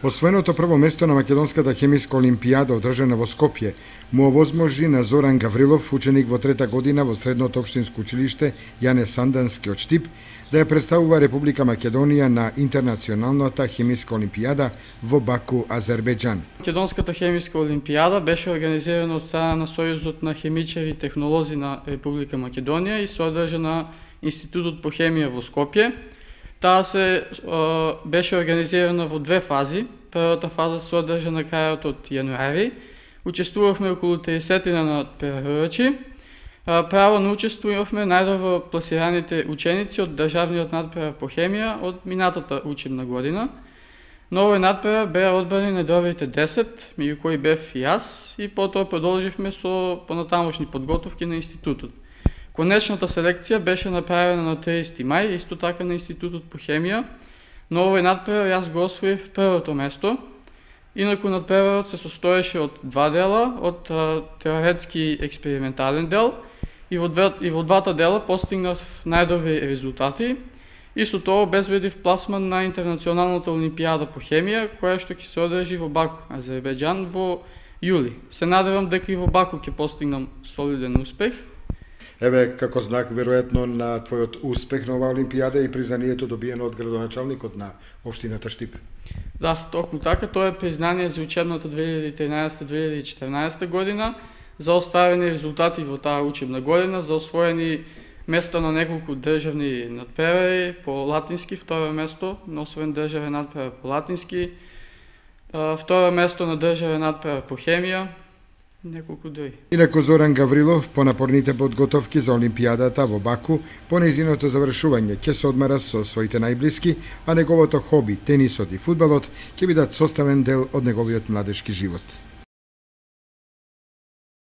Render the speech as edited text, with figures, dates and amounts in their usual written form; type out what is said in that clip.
Освоеното прво место на Македонската хемиска олимпијада одржана во Скопје му овозможи на Зоран Гаврилов, ученик во трета година во средното општинско училиште Јане Сандански од Штип, да ја представува Република Македонија на интернационалната хемиска олимпијада во Баку, Азербејџан. Македонската хемиска олимпијада беше организирана од страна на Сојузот на хемичари и технолози на Република Македонија и се одржа на Институтот по хемија во Скопје. Таа беше организирана во две фази. Првата фаза се одржа на крајот од јануари. Учествувавме околу 30 на преварувачи. Право на учество имавме најдобро пласираните ученици од државниот надпревар по хемија од минатата учебна година. На овој надпревар беа одбрани најдобрите 10, меѓу кои бев и јас, и потоа продолживме со понатамошни подготовки на институтот. Конечната селекција беше направена на 30 мај, исто така на Институтот по хемија. На овој надпревар јас го освоив првото место. Инаку надпреварот се состоеше од два дела, од теоретски експериментален дел, и во двата дела постигнав најдобри резултати и со тоа обезбедив пласман на интернационалната олимпијада по хемија, која што ќе се одржи во Баку, Азербејџан, во јули. Се надевам дека и во Баку ќе постигнам солиден успех. Еве, како знак, веројатно, на твојот успех на оваа олимпијада и признанието добиено од градоначалникот на општината Штип. Да, токму така, тоа е признание за учебната 2013-2014 година, за остварени резултати во таа учебна година, за освоени места на неколку државни надпревари по латински, второ место на освоен државен надпревар по латински, второ место на државен надпревар по хемија, неколку други. Инаку Зоран Гаврилов по напорните подготовки за олимпијадата во Баку, по нејзиното завршување ќе се одмара со своите најблиски, а неговото хоби, тенисот и фудбалот ќе бидат составен дел од неговиот младешки живот.